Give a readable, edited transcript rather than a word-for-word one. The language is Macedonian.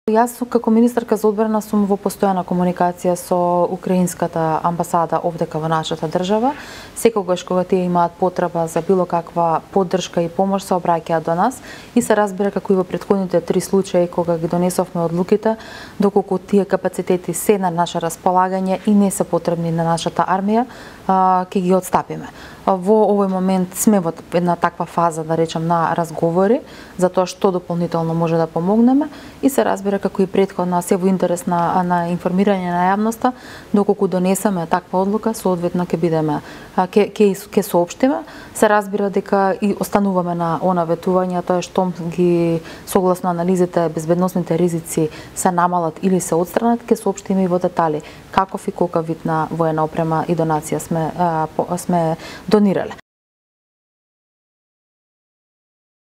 Јас како министарка за одбрана сум во постојана комуникација со украинската амбасада овдека во нашата држава. Секогаш кога тие имаат потреба за било каква поддршка и помош се обраќаат до нас и се разбира како и во претходните 3 случаи кога ги донесовме одлуките, доколку тие капацитети се на наше располагање и не се потребни на нашата армија, ќе ги отстапиме. Во овој момент сме во една таква фаза, да речем, на разговори за тоа што дополнително може да помогнеме и се разбира како и претходно се во интерес на информирање на јавноста, доколку донесеме таква одлука, соодветно ќе бидеме ќе соопштиме. Се разбира дека и остануваме на она ветување, тоа е што ги согласно анализите безбедносните ризици се намалат или се отстранат, ќе соопштиме и во детали каков и колкав вид на воена опрема и донација сме донирале.